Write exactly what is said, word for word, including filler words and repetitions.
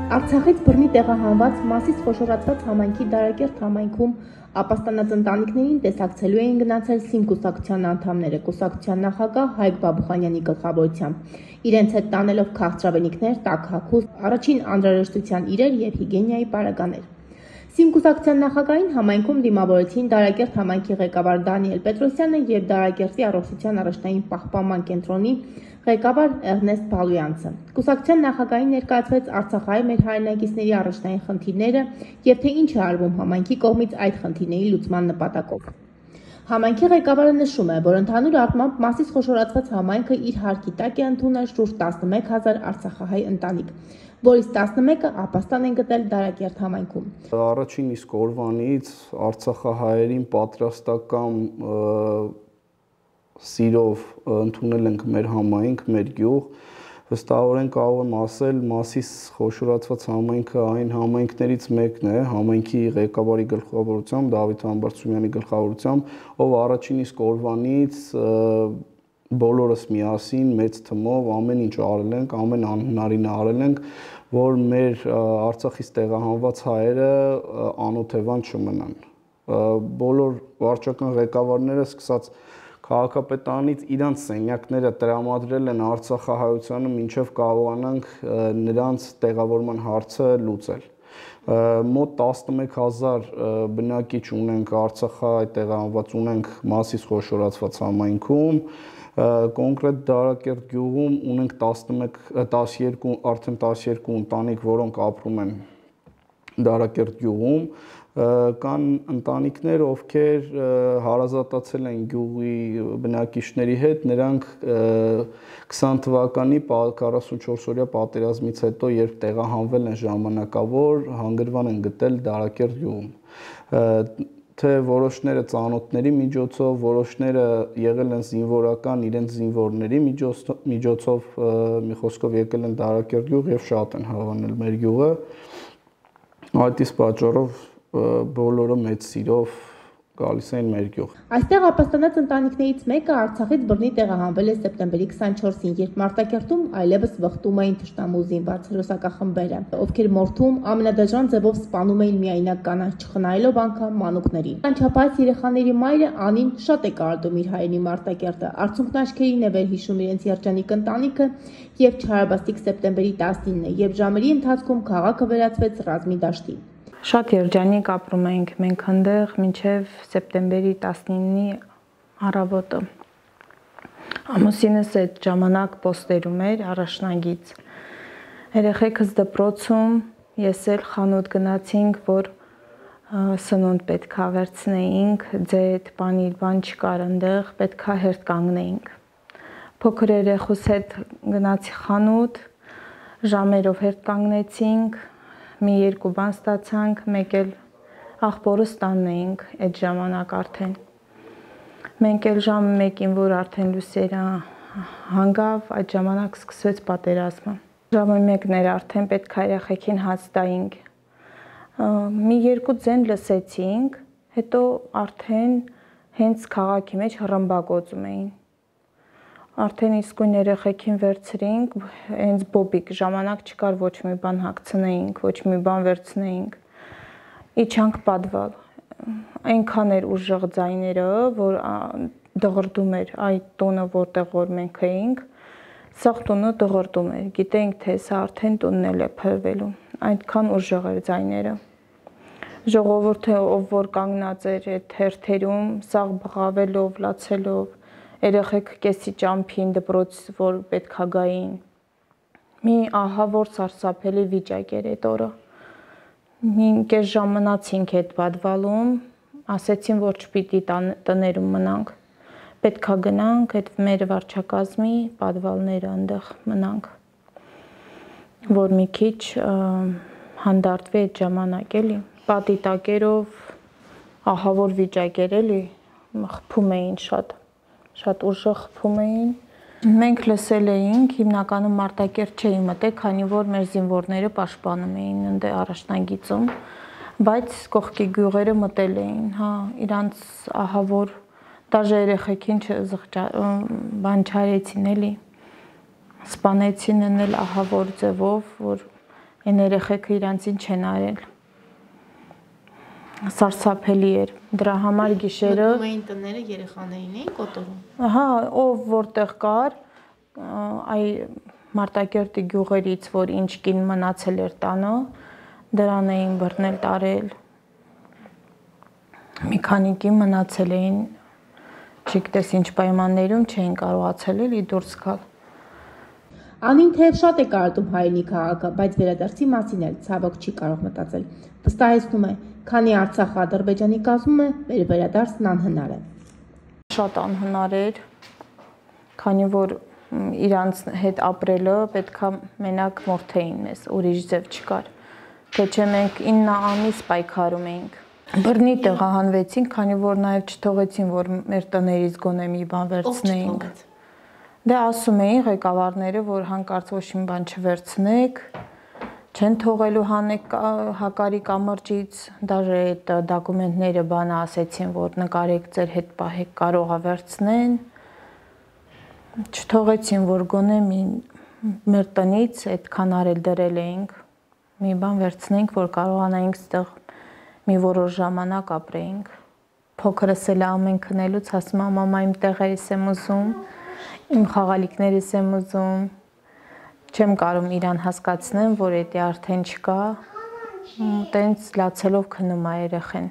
Արցախից բռնի տեղահանված Մասիս խոշորացված համայնքի Դարակերտ համայնքում ապաստանած ընտանիքներին տեսակցելու էին գնացել ՍԻՄ կուսակցության անդամները կուսակցության նախագահ Հայկ Բաբուխանյանի գլխավորությամբ։ Իրենց հետ տանելով քաղցրավենիքներ, տաք հագուստ, առաջին անհրաժեշտության իրեր եւ հիգիենայի պարագաներ։ ՍԻՄ կուսակցության նախագահին համայնքում դիմավորեցին Դարակերտ համայնքի ղեկավար Դանիել Պետրոսյանը եւ Դարակերտի առողջության առաջնային պահպանման կենտրոնի ղեկավար Էրնեստ Բալույանցը։ Կուսակցության նախագահին ներկայացվեց Արցախահայ մեր հայրենակիցների առաջնային խնդիրները եւ թե ինչ է արվում համայնքի կողմից այդ խնդիրների լուծման նպատակով։ Համայնքի ղեկավարը նշում է, որ ընդհանուր առմամբ Մասիս խոշորացված համայնքը իր հարկի տակ է ընդունել շուրջ տասնմեկ հազար արցախահայ ընտանիք, որից տասնմեկը ապաստան են գտել Դարակերտ համայնքում։ Առաջին իսկ օրվանից արցախահայերին պատրաստական սիրով ընդունել ենք մեր համայնք, մեր գյուղ։ Վստահորեն կարող եմ ասել, Մասիս խոշորացված համայնքը այն համայնքներից մեկն է, համայնքի ղեկավարի գլխավորությամբ, Դավիթ Համբարձումյանի գլխավորությամբ, ով առաջին իսկ օրվանից բոլորս միասին մեծ թմով ամեն ինչ արել ենք, ամեն անհնարինը արել ենք, որ մեր Արցախից տեղահանված հայերը անօթևան չմնան։ Բոլոր վարչական ղեկավարները սկսած քաղաքապետարանից իրանց սենյակները տրամադրել են արցախահայությանը, մինչև կարողանանք նրանց տեղավորման հարցը լուծել։ Մոտ տասնմեկ հազար բնակիչ ունենք Արցախահայ տեղահանված ունենք Մասիս խոշորացված համայնքում, կոնկրետ Դարակերտ գյուղում ունենք տասնմեկ տասներկու արդեն տասներկու ընտանիք, որոնք ապրում են Դարակերտ գյուղում, կան ընտանիքներ, ովքեր հարազատացել են գյուղի բնակիչների հետ, նրանք քսան թվականի քառասունչորս օրյա պատերազմից հետո, երբ տեղահանվել են ժամանակավոր, հանգրվան են գտել Դարակերտ գյուղում։ Թե որոշները ծանոթների միջոցով, որոշները եղել են զինվորական իրենց զինվորների միջոցով, մի խոսքով եկել են Դարակերտ գյուղ եւ շատ են հավանել մեր գյուղը։ Այդ իսկ պատճառով բոլորը մեծ սիրով գալիս են մեր գյուղ։ Այստեղ ապաստանած ընտանիքներից մեկը Արցախից բռնի տեղահանվել է սեպտեմբերի քսանչորսին, երբ Մարտակերտում այլևս վխտում էին թշնամու զինված հրոսակախմբերը, ովքեր մորթում ամենադաժան ձևով սպանում էին միայնակ կանանց, չխնայելով անգամ մանուկներին։ Անչափահաս երեխաների մայրը Անին շատ է կարոտում իր հայրենի Մարտակերտը, արցունքն աչքերին է վերհիշում իրենց երջանիկ ընտանիքը եւ չարաբաստիկ սեպտեմբերի տասնինը, երբ ժամերի ընթացքում քաղաքը վերածվեց ռազմի դաշտի։ Շատ երջանիկ ապրում էինք մենք այնտեղ մինչև սեպտեմբերի տասնինի առավոտը։ Ամուսինս այդ ժամանակ պոստերում էր առաջնագից։ Երեխեքս դպրոցում, ես էլ խանութ գնացինք, որ սնունդ պետքա վերցնեինք, ձետ, պանիր, բան չկար այնտեղ, պետքա հերթ կանգնեինք։ Փոքր երեխուս հետ գնացի խանութ, ժամերով հերթ կանգնեցինք, մի երկու բան ստացանք, մեկ էլ աղբորս տանն էինք այդ ժամանակ արդեն։ Մենք էլ ժամը մեկին, որ արդեն լուսերը հանգավ, այդ ժամանակ սկսվեց պատերազմը։ Ժամը մեկն էր արդեն պետք է երեխեքին հաց տայինք։ Մի երկու ձեն լսեցինք, հետո արդեն հենց քաղաքի մեջ հռմբակոծում էին։ Արդեն իսկույն երեխեքին վերցրինք, հենց բոբիկ ժամանակ չկար ոչ մի բան հագցնեինք, ոչ մի բան վերցնեինք։ Իջանք պատվալ։ Այնքան էր ուժեղ ձայները, որ դղրդում էր այդ տունը, որտեղ որ մենք էինք, սաղ տունը դղրդում էր։ Գիտեինք, թե սա արդեն տունն էլ է փրվելու։ Այդքան ուժեղ էր ձայները։ Ժողովուրդը, ով որ կանգնած էր այդ հերթերում, սաղ բղավելով, լացելով, երեխեք կեսի ճամփին դպրոց, որ պետքա գային։ Մի ահավոր սարսափելի վիճակ էր այդ օրը։ Մի կես ժամ մնացինք այդ պատվալում, ասեցին, որ չպիտի տներում մնանք։ Պետքա գնանք այդ մեր վարչակազմի պատվալները այնտեղ մնանք, որ մի քիչ հանդարտվի այդ ժամանակ էլի։ Պատի տակերով ահավոր վիճակ էր էլի, խփում էին շատ, շատ ուժեղ խփում էին։ Մենք լսել էինք, հիմնականում Մարտակերտ չէի մտել, քանի որ մեր զինվորները պաշտպանում էին ընդ առաջնագիծում, բայց կողքի գյուղերը մտել էին, հա, իրանց ահավոր դաժե երեխեքին բան չարեցին էլի, սպանեցին էլ ահավոր ձևով, որ Այն երեխեքը իրանցին չեն արել։ Սարսափելի էր։ Դրա համար գիշերը մտնում էին տները, երեխաներին էին կոտորում։ Ահա, ով որտեղ կար, այ Մարտակերտի գյուղերից, որ ինչ կին մնացել էր տանը, դրան էին բռնել տարել։ Մի քանիկի մնացել էին, չգիտես ինչ պայմաններում չէին կարողացել էլի դուրս գալ։ Անին թեև շատ է կարոտում հայրենի քաղաքը, բայց վերադարձի մասին էլ ցավոք չի կարող մտածել։ Վստահեցնում է, քանի Արցախը Ադրբեջանի կազմում է, մեր վերադարձն անհնար է։ Շատ անհնար էր, քանի որ իրանց հետ ապրելը պետքա մենակ մորթեին մեզ, ուրիշ ձև չկար։ Թե չէ մենք ինը ամիս պայքարում էինք։ Բռնի տեղահանվեցինք, քանի որ նաև չթողեցին, որ մեր տներից գոնե մի բան վերցնեինք։ Դե ասում էին ղեկավարները, որ հանկարծ ոչ մի բան չվերցնեք, չեն թողելու հանեք հակարի կամրջից, դաժե այդ դոկումենտները բանը ասեցին, որ նկարեք ձեր հետ պահեք, կարող է վերցնեն։ Չթողեցին, որ գոնե մի մեր տնից այդքան արել դրել էինք, մի բան վերցնենք, որ կարողանայինք ստեղ մի որոշ ժամանակ ապրեինք։ Փոքրս էլ ամեն քնելուց ասում եմ, մամա իմ տեղերից եմ ուզում, իմ խաղալիքներից եմ ուզում, չեմ կարող իրան հասկացնեմ, որ դա արդեն չկա, տենց լացելով քնում է երեխեն։